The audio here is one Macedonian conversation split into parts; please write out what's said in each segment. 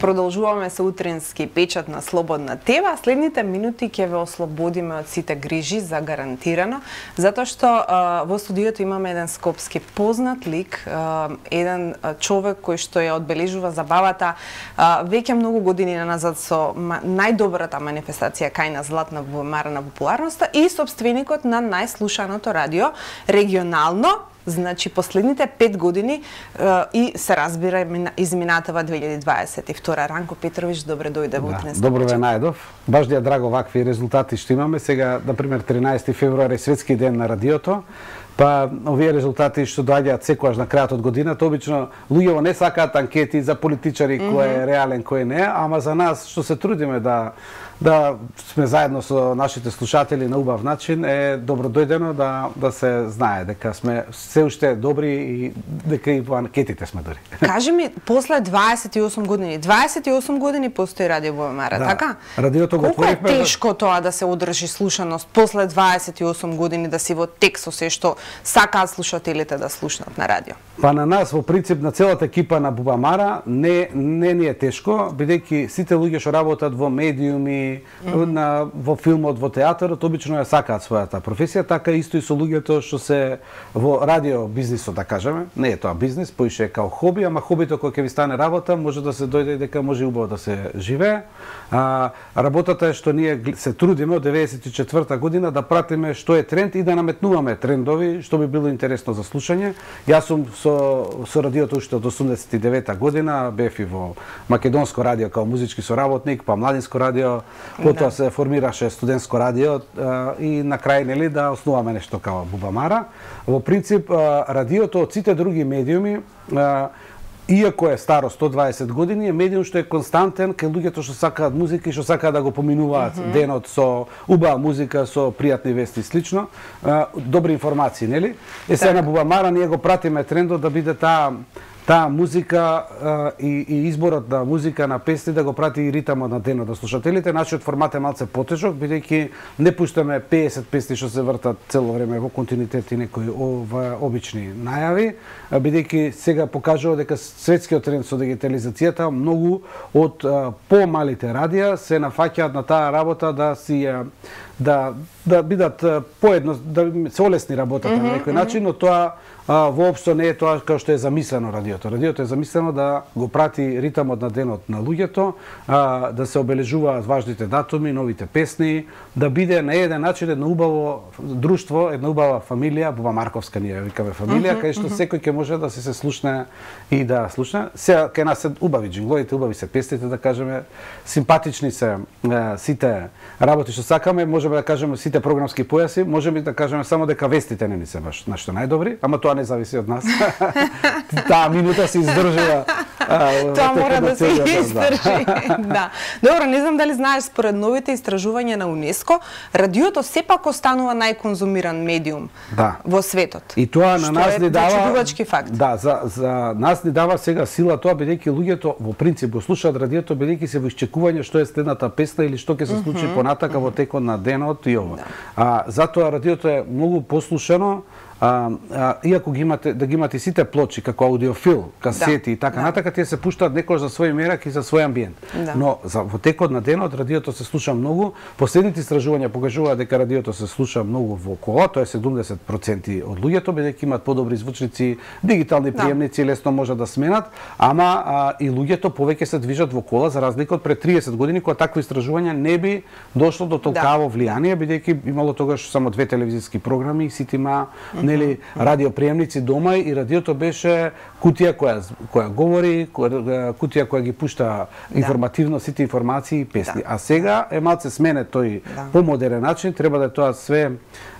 Продолжуваме со утрински печат на Слободна ТВ. Следните минути ќе ве ослободиме од сите грижи за гарантирано, затоа што во студиото имаме еден скопски познат лик, еден човек кој што ја одбележува забавата веќе многу години назад со најдобрата манифестација кај на Златна бубамара на популарноста и собственикот на најслушаното радио регионално. Значи, последните 5 години и се разбира изминатава 2022. Ранко Петрович, добре дојде во утрински. Добро ве најдов. Баш ја драго вакви резултати што имаме. Сега, например, 13 февруари светски ден на радиото. Па овие резултати што доаѓаат секогаш на крајот од годината, обично луѓето не сакаат анкети за политичари кој е реален, кој не, ама за нас што се трудиме да сме заедно со нашите слушатели на убав начин, е добро дојдено да се знае дека сме се уште добри и дека и во анкетите сме добри. Кажи ми, после 28 години постои Радио Бубамара, така? Радиото го отворивме. Колку е тешко тоа да се одржи слушаност после 28 години, да си во тек со се што сакаат слушателите да слушнат на радио? Па на нас, во принцип, на целата екипа на Бубамара, не ни е тешко, бидејќи сите луѓе што работат во медиуми, во филмот, во театарот, обично ја сакаат својата професија, така исто и со луѓето што се во радио бизнисот, да кажеме. Не е тоа бизнис, поише е као хоби, ама хобито кој ќе ви стане работа, може да се дојде дека може убаво да се живее. Работата е што ние се трудиме од 94-та година да пратиме што е тренд и да наметнуваме трендови што би било интересно за слушање. Јас сум со радиото уште од 89-та година, бев и во Македонско радио као музички соработник, па Младинско радио, потоа се формираше студентско радио и на крај нели да основаме нешто као Бубамара. Во принцип радиото од сите други медиуми, иако е старо 120 години, е медиум што е константен кај луѓето што сакаат музика и што сакаат да го поминуваат денот со убава музика, со пријатни вести и слично, добри информации, нели? Сега на Бубамара ние го пратиме трендот да биде таа музика и изборот на музика на песни да го прати и ритамот на денот на слушателите. Нашиот формат е малце потежок, бидејќи не пуштаме 50 песни што се вртат цело време во континуитет и некои обични најави, бидејќи сега покажува дека светскиот тренд со дигитализацијата, многу од помалите радија се нафаќаат на таа работа да бидат поедно, да се олесни работата на некој начин, но тоа воопшто не е тоа како што е замислено радиото. Радиото е замислено да го прати ритамот на денот на луѓето, да се обележуваат важните датуми, новите песни, да биде на еден начин едно убаво друштво, една убава фамилија, Бубамарковска ние викаме фамилија, кај што секој ќе може да се слушне и да слушне. Сега кај нас се убави джингловите, убави се песните, да кажеме, симпатични се сите работи што сакаме, можеме да кажеме сите програмски појаси, можеме да кажеме само дека вестите не ни се баш нашто најдобри, ама тоа не зависи од нас. Таа минута се издржува. Тоа мора да се издржи. Да. Добро, не знам дали знаеш, според новите истражувања на УНЕСКО, радиото сепак останува најконзумиран медиум во светот. И тоа на нас ни дава чудувачки факт. Да, за нас ни дава сега сила тоа, бидејќи луѓето во принцип го слушаат радиото, бидејќи се во исчекување што е следната песна или што ќе се случи понатака во текот на денот и ова. Затоа радиото е многу послушано. Иако да ги имате сите плочи како аудиофил, касети и така натака, тие се пуштаат некош за свој мерак и за свој амбиент. Но во текот на денот радиото се слуша многу. Последните истражувања покажуваат дека радиото се слуша многу во кола, тоа е 70% од луѓето, бидејќи имаат подобри звучници, дигитални приемници, лесно можат да сменат, ама и луѓето повеќе се движат во кола за разлика од пред 30 години кога такво истражување не би дошло до толкаво влијание, бидејќи имало тогаш само 2 телевизиски програми, сите има нели радиоприемници дома и радиото беше кутија која говори, кутија која ги пушта информативно сите информации и песни. А сега е малце смене тој помодерен начин, треба да е тоа све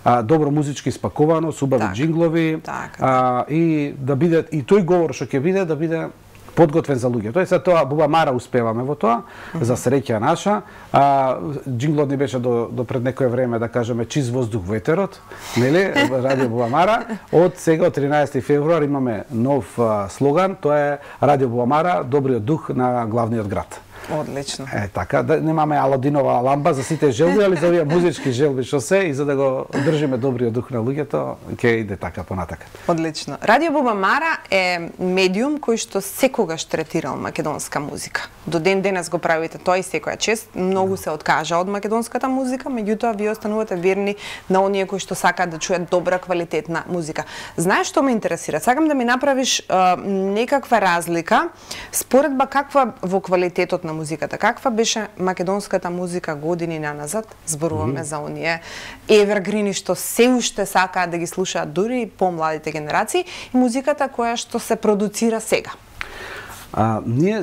добро музички спаковано, со убави джинглови и да биде и тој говор што ќе биде да биде подготвен за луѓето. Тој се тоа Бубамара успеваме во тоа, за среќа наша. Джинглот ни беше до пред некое време, да кажеме, чист воздух ветерот, нели, Радио Бубамара. Од сега, од 13 февруар, имаме нов слоган, тоа е Радио Бубамара, добриот дух на главниот град. Одлично. Така, да немаме Аладинова ламба за сите желби, али за овие музички желби што се и за да го држиме добриот дух на луѓето, ќе иде така понатака. Одлично. Радио Бубамара е медиум кој што секогаш третирал македонска музика. До ден денес го правите тоа и секоја чест. Многу се откажа од македонската музика, меѓутоа вие останувате верни на оние кои што сакаат да чуят добра квалитетна музика. Знаеш што ме интересира? Сакам да ми направиш некаква разлика, споредба каква во квалитетот на музиката, каква беше македонската музика години наназад, зборуваме за оние евергрини што се уште сакаат да ги слушаат дури и помладите генерации, и музиката која што се продуцира сега. Ние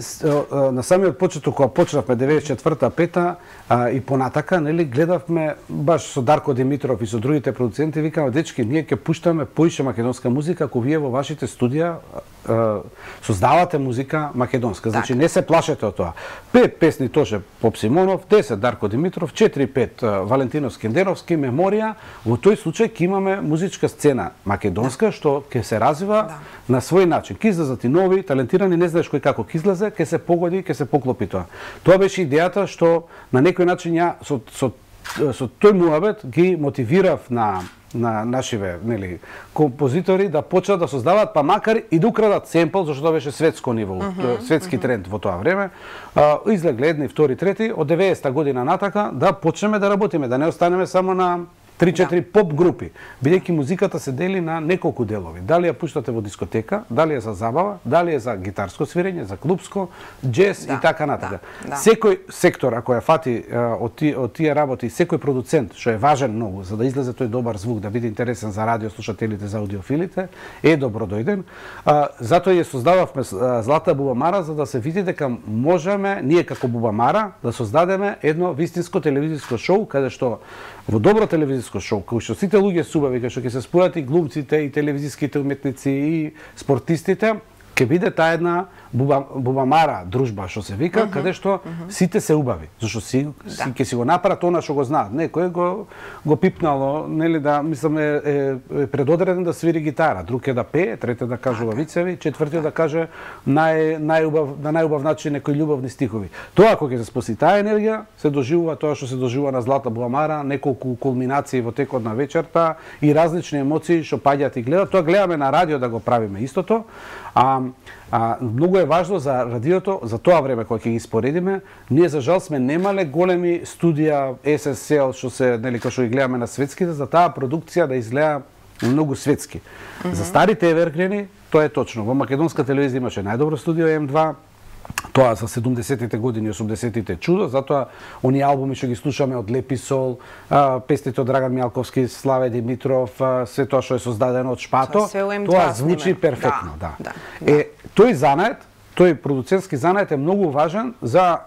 на самиот почеток кога почнавме 94-та, 5-та и понатака, нели, гледавме баш со Дарко Димитров и со другите продуценти, викаме, дечки, ние ќе пуштаме поише македонска музика, ако вие во вашите студија создавате музика македонска. Значи не се плашете од тоа. 5 песни Тоше Поп Симонов, 10 Дарко Димитров, 4-5 Валентино Скендеровски, Меморија. Во тој случај ќе имаме музичка сцена македонска што ќе се развива на свој начин. Ќе излезат и нови, талентирани, не знаеш кој како ќе излезе, ќе се погоди, ќе се поклопи тоа. Тоа беше идејата што на некој начин ја со тој муабет ги мотивирав на нашиве, нели, композитори да почнат да создаваат, па макар и да украдат семпл, зашто тоа беше светско ниво, светски тренд во тоа време. Излегле едни, втори, трети, од 90-та година натака да почнеме да работиме, да не останеме само на 3-4 поп групи, бидејќи музиката се дели на неколку делови. Дали ја пуштате во дискотека, дали е за забава, дали е за гитарско свирење, за клубско, џез и така натака. Секој сектор, ако ја фати од тие работи, секој продуцент, што е важен многу за да излезе тој добар звук, да биде интересен за радиослушателите, за аудиофилите, е добродојден. Затоа ја создававме Злата Бубамара, за да се види дека можеме, ние како Бубамара, да создадеме едно вистинско телевизиско шоу, каде што во добро телевизиско шоу, кој што сите луѓе субави, кај што ќе се спојат и глумците, и телевизиските уметници, и спортистите, ќе биде таа една Бубамара дружба, што се вика, каде што сите се убави. Зашто ќе си го направат она што го знаат. Некој го пипнало, нели, да, мислам, е предодреден да свири гитара, друг е да пее, трети да кажува вицеви, четвртиот да каже на најубав начин некои љубовни стихови. Тоа кога ќе се споси таа енергија, се доживува тоа што се доживува на Злата Бубамара, неколку кулминации во текот на вечерта и различни емоции што паѓаат и гледат. Тоа гледаме на радио да го правиме истото. Многу е важно за радиото, за тоа време кога ќе ги споредиме, ние за жал сме немале големи студија SSL што се, нели, кои што ги гледаме на светските, за таа продукција да изгледа многу светски. За старите евергрини тоа е точно. Во македонска телевизија имаше најдобро студио М2, тоа за 70-тите години, 80-тите чудо, затоа оние албуми што ги слушаме од Леписол, песните од Драган Мјалковски, Славе Димитров, се тоа што е создадено од Шпато, тоа звучи перфектно, тој занает, тој продуцентски занает е многу важен за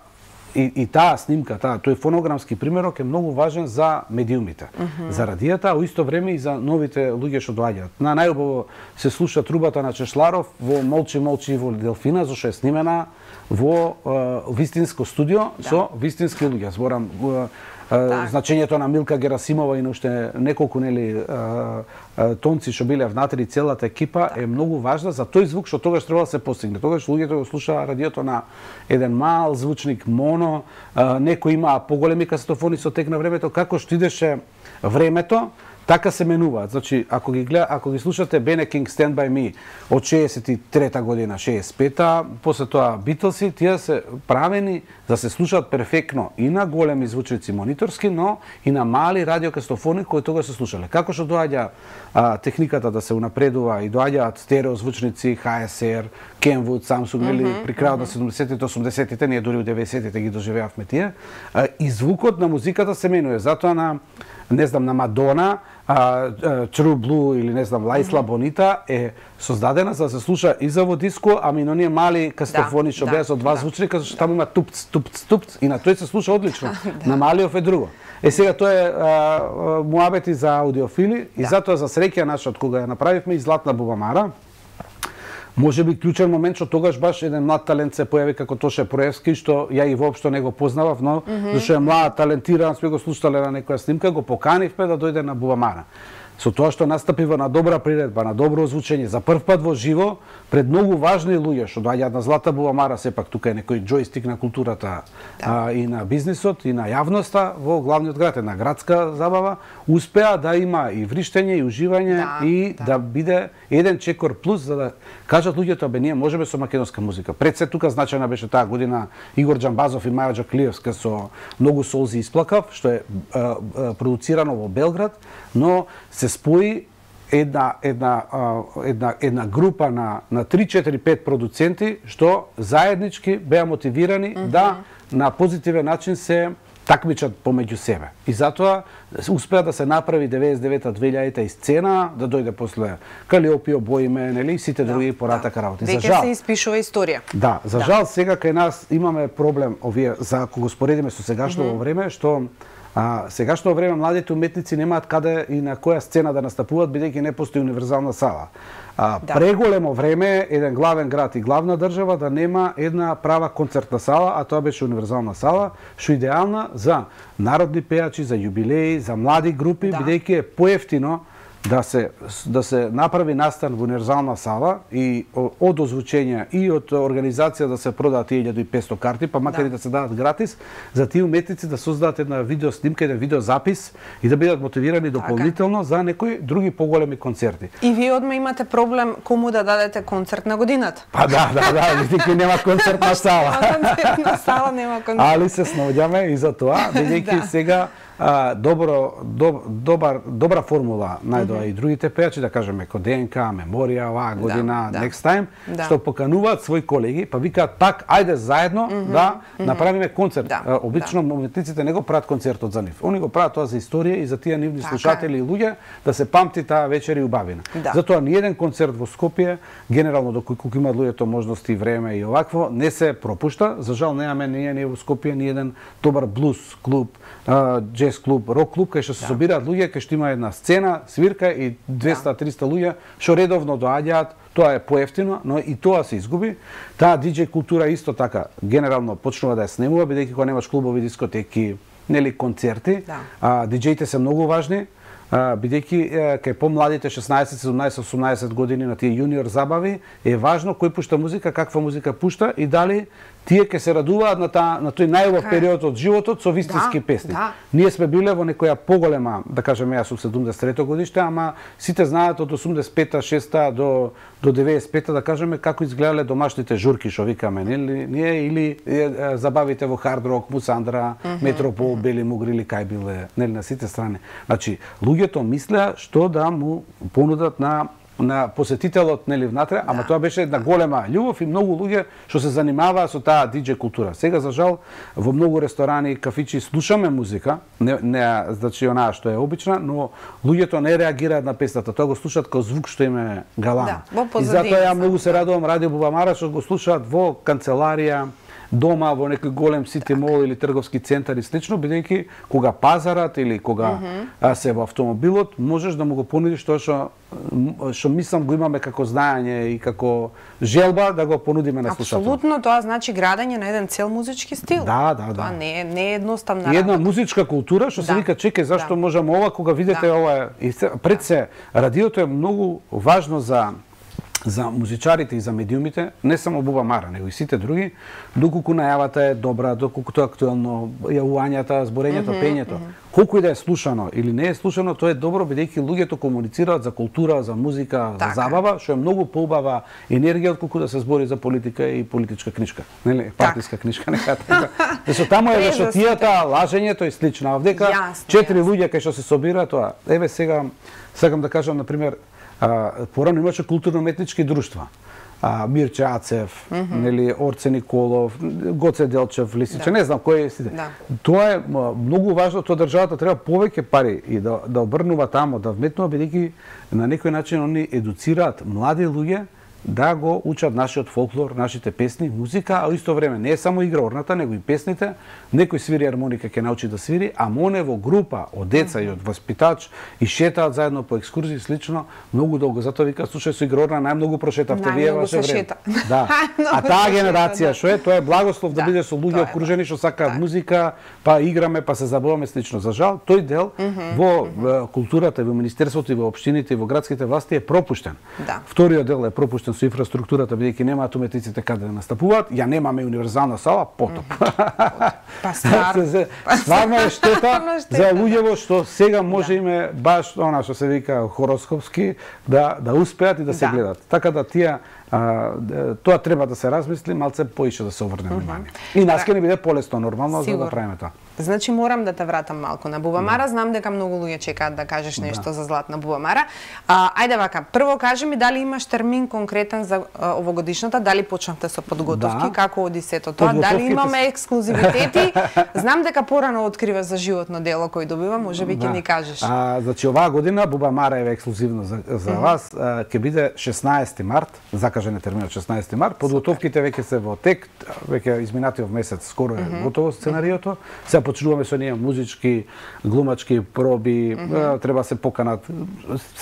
и таа снимка, тој фонограмски примерок е многу важен за медиумите, за радијата, а во исто време и за новите луѓе што доаѓаат. На најубаво се слуша трубата на Чешларов во Молчи Молчи во Делфина, зашто е снимена во вистинско студио со вистински луѓе. Зборам значењето на Милка Герасимова и на уште неколку, нели, тонци што биле внатре, целата екипа е многу важна за тој звук што тогаш треба да се постигне. Тогаш луѓето го слушаа радиото на еден мал звучник моно, некои имаа поголеми касетофони со тек на времето, како што идеше времето, така се менуваат. Значи, ако ги слушате Bene King Stand By Me од 63-та година, 65-та, после тоа Битлси, тие се правени да се слушаат перфектно и на големи звучници мониторски, но и на мали радиокастофони кои тогаш се слушале. Како што доаѓа техниката да се унапредува и доаѓаат стерео звучници, HSR, Kenwood, Samsung, или при крајот на 70-тите, 80-тите, ние дури у 90-тите ги доживеавме тие, и звукот на музиката се менува. Затоа на, не знам, на Мадона, True Blue или не знам, Лаисла Бонита е создадена за да се слуша и за во диско, ами на оние мали кастофони што беа со два звучника, зашто таму има тупц, тупц, тупц, и на тој се слуша одлично. На малиов е друго. Сега тоа е муабети за аудиофили и затоа за среќа наша од кога ја направивме и Златна Бубамара, може би клучен момент што тогаш баш еден млад талент се појави како Тоше Проевски, што ја и воопшто не го познавав, но зашто е млад, талентиран, сме го слушале на некоја снимка, го поканивме да дојде на Бубамара. со тоа што настапива на добра приредба, на добро озвучење, за прв пат во живо, пред многу важни луѓе што доаѓаат на Злата Бубамара, сепак тука е некој џојстик на културата и на бизнисот и на јавноста во главниот град, една градска забава, успеа да има и вриштење и уживање и да биде еден чекор плюс за да кажат луѓето, бе ние можеме со македонска музика. Пред се тука значајна беше таа година Игор Џамбазов и Маја Џаклиевска со Многу солзи исплакав, што е продуцирано во Белград, но се спои една група на 3-4-5 продуценти што заеднички беа мотивирани да на позитивен начин се такмичат помеѓу себе. И затоа успеа да се направи 99-2000 и сцена, да дојде после Калиопио, Боиме, нели, сите други поратака работи. За жал се испишува историја. Да, за жал сега кај нас имаме проблем овие за ако го споредиме со сегашното време, што сегашно време младите уметници немаат каде и на која сцена да настапуваат, бидејќи не постои универзална сала. Преголемо време еден главен град и главна држава да нема една права концертна сала, а тоа беше универзална сала, што идеална за народни пејачи, за јубилеи, за млади групи, бидејќи е поевтино да се направи настан во универзална сала и од озвучење и од организација да се продаат 1500 карти, па макар и да се дадат гратис, за тие уметници да создадат една видеоснимка, еден видеозапис и да бидат мотивирани дополнително за некои други поголеми концерти. И вие одма имате проблем кому да дадете концерт на годината? Па да, бидејќи нема концертна сала. Концертна сала нема концерт. Али се снаоѓаме и за тоа, бидејќи сега добра формула најдоа и другите пејачи, да кажеме ко ДНК, Меморија, оваа година, Next Time, што покануваат своји колеги, па викаат пак ајде заедно да направиме концерт. Обично уметниците не го прават концертот за нив. Они го прават тоа за историја и за тие нивни слушатели и луѓе да се памти таа вечер и убавина. Затоа ниеден концерт во Скопје, генерално доколку имаат луѓето можности и време и овакво, не се пропушта. За жал немаме ние во Скопје ни еден добар блуз клуб, джез клуб, рок клуб, кај што се собираат луѓе, кај што има една сцена, свирка и 200-300 луѓе што редовно доаѓаат. Тоа е поевтино, но и тоа се изгуби. Таа диџеј култура исто така генерално почнува да ја снемува, бидејќи кога немаш клубови, дискотеки, нели концерти, диџеите се многу важни. Бидејќи кај помладите 16, 17, 18 години на тие јуниор забави е важно кој пушта музика, каква музика пушта и дали тие ќе се радуваат на тој најубав период од животот со вистински песни. Ние сме биле во некоја поголема, да кажеме, јас сум 73 годиште, ама сите знаат од 85-та, 6-та до 95-та, да кажеме, како изгледале домашните журки, што викаме, ние или забавите во Хард Рок, Мусандра, Метропол, Бели Мугри или кај биле, нели на сите страни. Значи, луѓето мислеа што да му понудат на посетителот, нели, внатре, ама тоа беше една голема љубов и многу луѓе што се занимаваа со таа диџеј култура. Сега, за жал, во многу ресторани и кафичи слушаме музика, не значи онаа што е обична, но луѓето не реагираат на песната, тоа го слушаат како звук што им е галама. И затоа ја многу се радувам Радио Бубамара што го слушаат во канцеларија, дома во некој голем сити мол или трговски центар и слично, бидејќи кога пазарат или кога се во автомобилот, можеш да му го понудиш тоа што мислам го имаме како знаење и како желба да го понудиме на слушателот. Апсолутно, тоа значи градење на еден цел музички стил. Тоа не е едноставна работа. И една музичка култура што се вика чекај зашто можеме ова кога видите ова и пред се радиото е многу важно за музичарите и за медиумите, не само Бубамара, него и сите други, доколку најавата е добра, доколку тоа актуелно, јавувањата, зборењето, пењето. Колку и да е слушано или не е слушано, тоа е добро бидејќи луѓето комуницираат за култура, за музика, за забава, што е многу поубава енергија отколку да се збори за политика и политичка книжка, нели, партиска книжка, нека така. Зашто таму е вешотијата, лажењето и слично. А овдека 4 луѓе кај што се собираат тоа. Еве сега сакам да кажам на пример порано имаше културно-уметнички друштва. Мирче Ацев, нели Орце Николов, Гоце Делчев, Лисиче, не знам кој е сите. Тоа е многу важно, тоа државата треба повеќе пари и да обрнува тамо, да вметнува, бидејќи на некој начин они едуцираат млади луѓе да го учат нашиот фолклор, нашите песни, музика, а исто време не е само игра орната, него и песните. Некој свири армоника, ќе научи да свири, а моне во група од деца и од воспитач и шетаат заедно по екскурзии слично многу долго. Затоа вика, слушај, со игра орна најмногу прошетавте вие ваше време. Да. А таа генерација што е, тоа е благослов да биде со луѓе окружени што сакаат музика, па играме, па се забаваме слично. За жал, тој дел во културата, во министерството и во општините и во градските власти е пропуштен. Вториот дел е пропуштен со инфраструктурата, бидејќи немаат уметниците каде да настапуваат, ја немаме универзална сала, потоп. Па стварно е штета за луѓево што сега може име баш она што се вика хороскопски да успеат и да се гледат. Така да тие тоа треба да се размисли, малце поише да се обрне внимание. И нас ќе ни биде полесно нормално за да правиме тоа. Значи морам да те вратам малку на Бубамара. Знам дека многу луѓе чекаат да кажеш нешто за Златна Бубамара. Ајде вака, прво кажи ми дали имаш термин конкретен за овогодишната, дали почнавте со подготовки, како оди сето тоа, дали имаме ексклузивитети. Знам дека порано открива за животно дело кој добива, можеби ќе ни кажеш. Значи оваа година Бубамара е ексклузивно за вас, ќе биде 16 март, закажен е терминот 16 март. Подготовките веќе се во тек, веќе изминатиот месец скоро е готово сценариото. Се почнуваме со ние музички, глумачки проби, треба се поканат,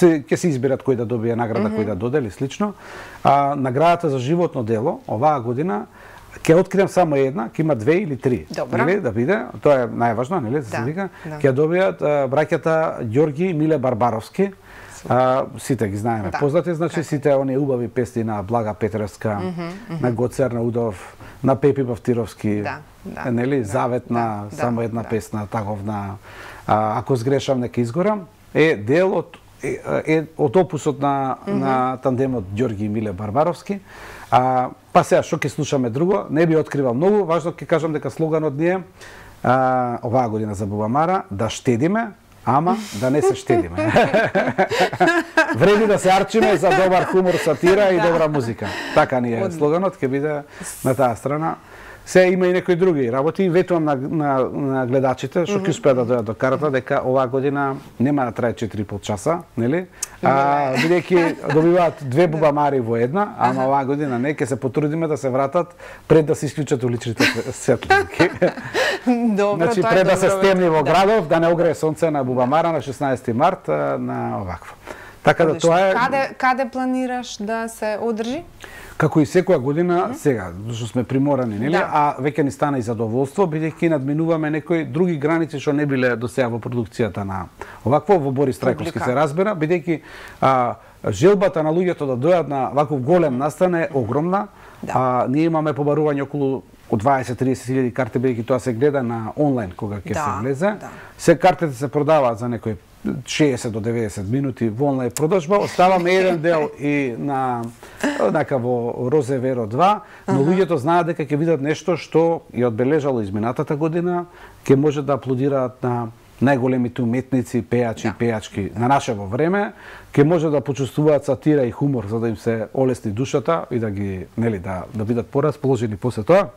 ќе се изберат кој да добие награда, кој да додели слично. Наградата за животно дело оваа година ќе открием само една, ќе има 2 или 3, нели, да биде, тоа е најважно, нели, да се вика, ќе добијат браќата Ѓорги и Миле Барбаровски. Сите ги знаеме познати, значи сите оние убави песни на Блага Петревска, на Гоцер на Удов, на Пепи Бавтировски, нели, заветна, само една песна, таговна, ако сгрешам нека изгорам, е дел од опусот на тандемот Ѓорги и Миле Барбаровски. Па сега, што ќе слушаме друго, не би откривал многу, важно ќе кажам дека слоганот ни е оваа година за Бубамара, да штедиме, ама да не се штедиме. Вреди да се арчиме за добар хумор, сатира и добра музика. Така ни е слоганот, ќе биде на таа страна. Се има и некои други работи. Ветувам на гледачите што ќе успеат да дојдат до карата дека оваа година нема да трае 4,5 часа, нели? Бидејќи добиваат 2 Бубамари во една, ама оваа година не, ќе се потрудиме да се вратат пред да се исклучат уличните светлинки. Значи пред да се стемни во градов, да не огрее сонце на Бубамара на 16 март на овакво. Така да тоа е. Каде планираш да се одржи? Како и секоја година сега, што сме приморани, нели? А веќе ни стана и задоволство, бидејќи надминуваме некои други граници што не биле до сега во продукцијата на овакво, во Борис Трајковски се разбира, бидејќи желбата на луѓето да дојдат на ваков голем настан е огромна. Ние имаме побарување околу од 20-30 000 карти, бидејќи тоа се гледа на онлайн кога ќе се влезе. Се картите се продаваат за некои 60 до 90 минути во онлайн продажба. Оставаме еден дел и на во Розеверо 2, но луѓето знаат дека ќе видат нешто што е одбележало изминатата година, ќе може да аплодираат на најголемите уметници, пејачи и пејачки на нашево време, ќе може да почувствуваат сатира и хумор за да им се олесни душата и да ги, нели, да бидат порасположени после тоа.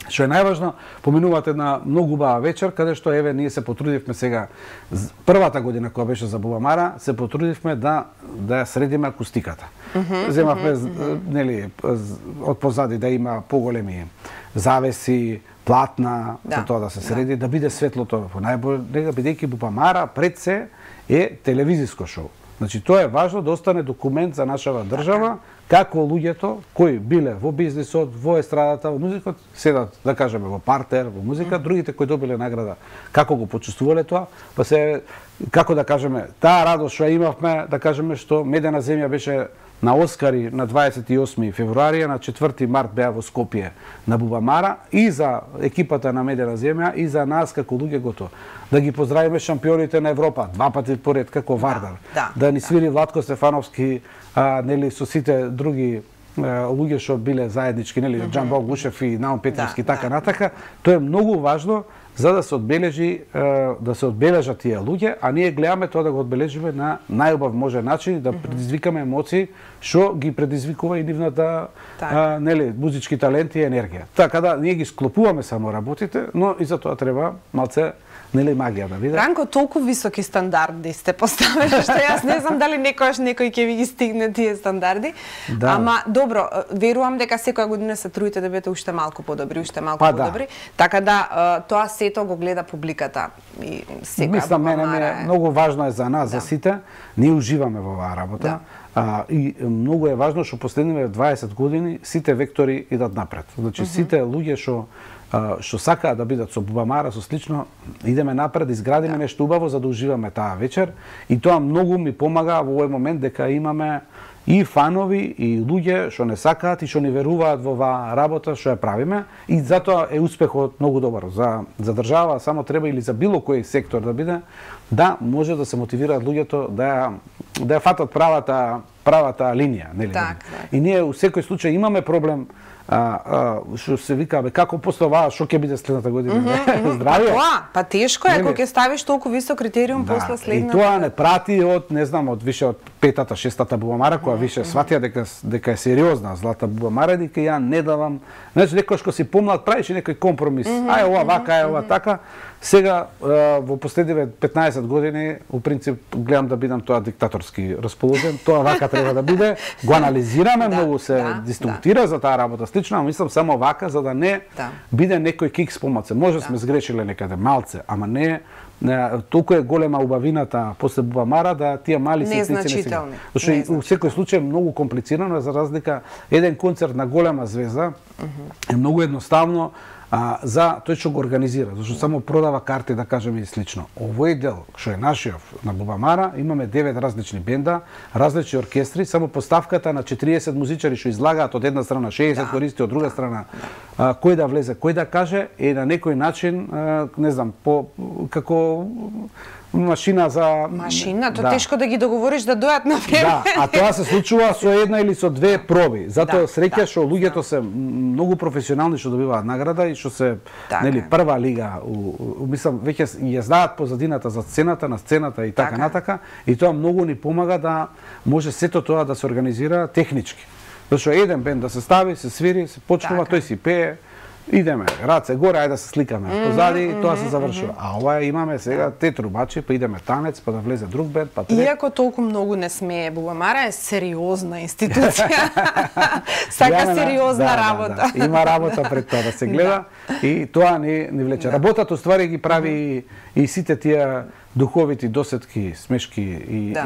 Што е најважно, поминуваат една многу убава вечер, каде што еве ние се потрудивме сега првата година кога беше за Бубамара, се потрудивме да ја средиме акустиката. Земавме нели од позади да има поголеми завеси, платна, за тоа да се среди, да биде светлото по најбоље, бидејќи Бубамара пред се е телевизиско шоу. Значи тоа е важно да остане документ за нашава држава, како луѓето кои биле во бизнисот, во естрадата, во музикот, седат, да кажеме, во партер, во музика, другите кои добиле награда, како го почувствувале тоа, па се, како да кажеме, таа радост што имавме, да кажеме, што Медена земја беше на Оскари на 28 февруари, на 4 март беа во Скопје на Бубамара и за екипата на Медена земја и за нас како луѓе готово. Да ги поздравиме шампионите на Европа, 2 пати поред како Вардар. Да ни свири Владко Стефановски, нели со сите други луѓе што биле заеднички, нели Џамбо Гушев и Наум Петровски така натака. Тоа е многу важно за да се одбележат тие луѓе, а ние гледаме тоа да го одбележиме на најубав можен начин, да предизвикаме емоции што ги предизвикува и нивната нели музички таленти и енергија. Така да ние ги склопуваме само работите, но и за тоа треба малце нели магија да биде. Ранко, толку високи стандарди сте поставили, што јас не знам дали некој ќе ви ги стигне тие стандарди. Да. Ама добро, верувам дека секоја година се трудите да бидете уште малку подобри, подобри. Така да тоа сето го гледа публиката и секоја. Мислам, мене многу важно е за нас, за сите. Ние уживаме во оваа работа. И многу е важно што последниве 20 години сите вектори идат напред. Значи сите луѓе што сакаат да бидат со Бубамара, со слично, идеме напред, изградиме нешто убаво за да уживаме таа вечер. И тоа многу ми помага во овој момент дека имаме и фанови и луѓе што не сакаат и што не веруваат во оваа работа што ја правиме, и затоа е успехот многу добар. За држава само треба, или за било кој сектор да биде, да може да се мотивираат луѓето да ја фатат правата линија, нели? И ние у секој случај имаме проблем, што се вика, како после ова, што ќе биде следната година? Здравје? Па тешко е, кога ќе ставиш толку висок критериум после следната. И тоа не прати од, не знам, од више од петата, шестата Бубамара, која више сватија дека е сериозна злата Бубамара, дека ја не давам. Значи, некој што си помлад правиш некој компромис. Ај ова вака, ај ова така. Сега, во последниве 15 години, у принцип, гледам да бидам тоа диктаторски расположен. Тоа вака треба да биде. Го анализираме, многу се диструктира за таа работа слично, мислам само вака, за да не биде некој кикс помалце. Може сме сгрешиле некаде малце, ама не толку е голема убавината после Бубамара да тие мали ситници не се. Зашто у секој случај многу комплицирано, за разлика еден концерт на голема звезда е многу едноставно за тој што го организира, зашто само продава карти, да кажеме, и слично. Овој дел, што е нашиот на Бубамара, имаме 9 различни бенда, различни оркестри, само поставката на 40 музичари што излагаат од една страна, 60 користи од друга страна, кој да влезе, кој да каже, е на некој начин, не знам, како машина за... Машина, тоа тешко да ги договориш да дојат на време. Да, а тоа се случува со една или со две проби. Затоа среќа што луѓето се многу професионални што добиваат награда и што се нели прва лига, мислам веќе ја знаат позадината за сцената, на сцената и така натака, и тоа многу ни помага да може сето тоа да се организира технички. Зашто еден бенд да се стави, се свири, се почнува, тој си пее, идеме, раце горе, ајде да се сликаме позади, тоа се завршува. А ова имаме сега те трубачи, па идеме танец, па да влезе друг бенд, па трет. Иако толку многу не смее, Бубамара е сериозна институција. Сака сериозна работа. Има работа пред тоа да се гледа и тоа ни влече. Работата уствари ги прави и сите тие духовити досетки, смешки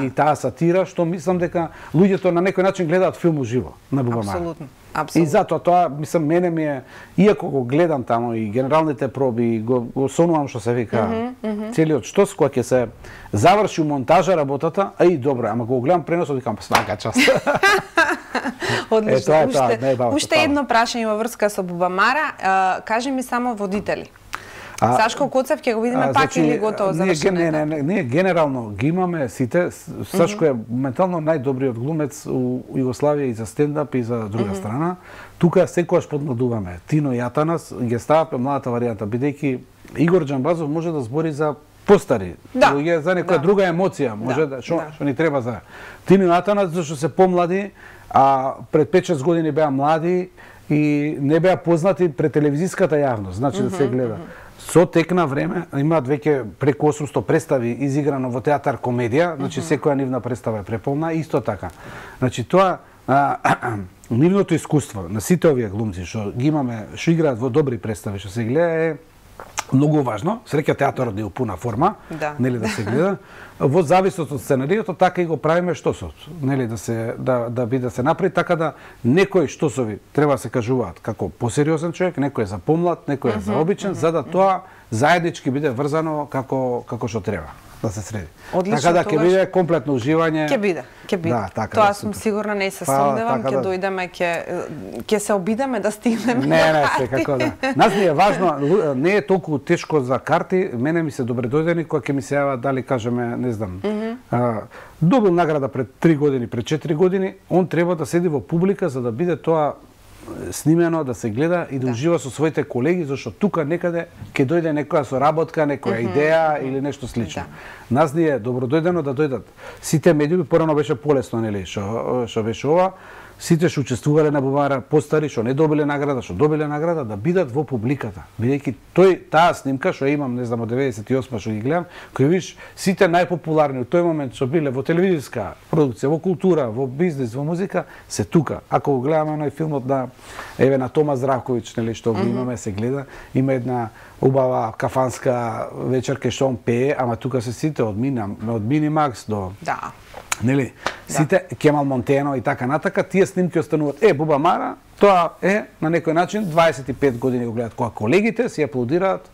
и таа сатира, што мислам дека луѓето на некој начин гледаат филм уживо на Бубамара. Апсолутно. И затоа тоа, мислам, мене ми е, иако го гледам таму и генералните проби, го сонувам што се вика целиот штос, кога ќе се заврши монтажа работата, и добро, ама го гледам преносот, викам, свака част. Одлично. Уште едно прашање во врска со Бубамара, кажи ми само водители. Сашко Коцев ќе го видиме пак или готово завршено? Не, генерално ги имаме сите. Сашко е моментално најдобриот глумец у Југославија и за стендап и за друга страна. Тука секогаш подмладуваме. Тино и Атанас ги ставаме младата варијанта, бидејќи Игор Џамбазов може да збори за постари, за некоја друга емоција, може што ни треба за Тино и Атанас, зашто се помлади, а пред 5-6 години беа млади и не беа познати пред телевизиската јавност, значи да се гледа. Со тек на време имаат веќе преку 800 представи изиграно во театар комедија, значи секоја нивна представа е преполна, исто така. Значи тоа нивното искуство на сите овие глумци што ги имаме, што играат во добри представи, што се гледа е многу важно. Среќа театарот е у пуна форма, нели да се гледа. Во зависност од сценариото, така и го правиме штосот, нели да биде се направи така да некои штосови треба да се кажуваат како посериозен човек, некој е за помлад, некој е за обичен, за да тоа заеднички биде врзано како што треба да се среди. Одлично, така да ќе биде комплетно уживање. Ќе биде. Да, така, тоа сум сигурна, не се сомневам, ќе дојдеме, ќе се обидеме да стигнеме. Не, секако да. Нас ни е важно, не е толку тешко за карти, мене ми се добредојдени кога ќе ми се јава дали кажеме, не знам, добил награда пред 3 години, пред 4 години, он треба да седи во публика за да биде тоа снимено, да се гледа и да ужива со своите колеги, зашто тука некаде ќе дојде некоја соработка, некоја идеја или нешто слично. Нас ни е добродојдено да дојдат сите медиуми, порано беше полесно, нели, што беше ова. Сите што учествувале на Бубамара, постари, што не добиле награда, што добиле награда, да бидат во публиката. Бидејќи таа снимка што имам, не знам, од 98 што ги гледам, кој виш сите најпопуларни во тој момент што биле во телевизиска продукција, во култура, во бизнис, во музика, се тука. Ако го гледаме оној филмот на Тома Здравковиќ, нели, што го имаме, се гледа, има една убава кафанска вечерка што он пее, ама тука се сите од Минимакс до нели, сите Кемал Монтено и така натака, тие снимки остануваат. Бубамара, тоа е на некој начин 25 години го гледат, кога колегите си аплодираат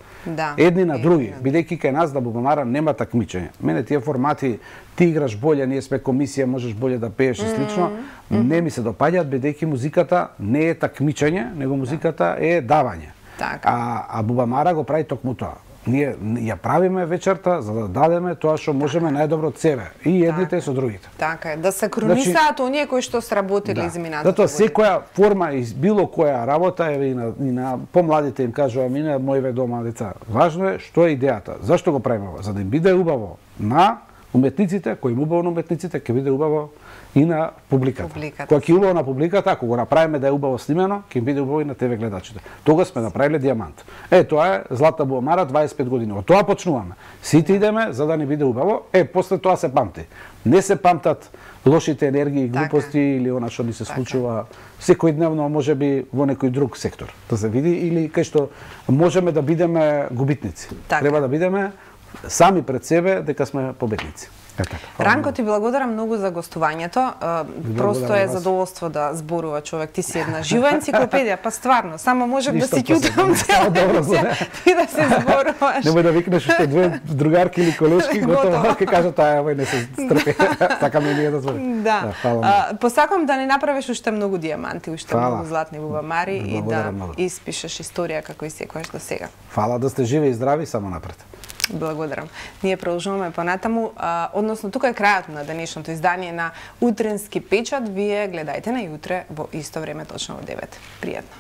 едни на други, бидејќи кај нас да Бубамара нема такмичење. Мене тие формати, ти играш боле, ние сме комисија, можеш боле да пееш и слично, не ми се допаѓаат, бидејќи музиката не е такмичење, него музиката е давање. А Бубамара го прави токму тоа. Ние ја правиме вечерта за да дадеме тоа што можеме најдобро од себе и едните со другите. Така е, да се кронисаат оние кои што сработиле изминатата. Затоа секоја форма и било која работа и на помладите им кажувам и на моите дома деца. Важно е што е идејата. Зашто го правиме ова? За да им биде убаво на уметниците, кои им убаво на уметниците, ќе биде убаво и на публиката. Кога ќе убаво на публиката, ако го направиме да е убаво снимено, ќе биде убаво и на ТВ гледачите. Тогаш сме направиле дијамант. Тоа е Злата Бубамара 25 години. Од тоа почнуваме. Сите идеме за да ни биде убаво, после тоа се памти. Не се памтат лошите енергии, глупости или она што ни се случува секојдневно, можеби во некој друг сектор. Да се види или кај што можеме да бидеме губитници. Треба да бидеме сами пред себе дека сме победници. Ранко, ти благодарам многу за гостувањето. Просто е задоволство да зборува човек. Ти си една жива енциклопедија, па стварно, само можев да си ќутам ти да се зборуваш. Немој да викнеш уште две другарки или колешки, готово ќе кажа таа овој не се стрпи. Така ми е да зборам. Посакам да не направиш уште многу дијаманти, уште многу златни Бубамари и да испишеш историја како и секојаш до сега. Фала, да сте живи и здрави, само напред. Благодарам. Ние продолжуваме понатаму, односно тука е крајот на денешното издание на Утренски печат. Вие гледајте на јутре во исто време, точно во 9. Пријатно.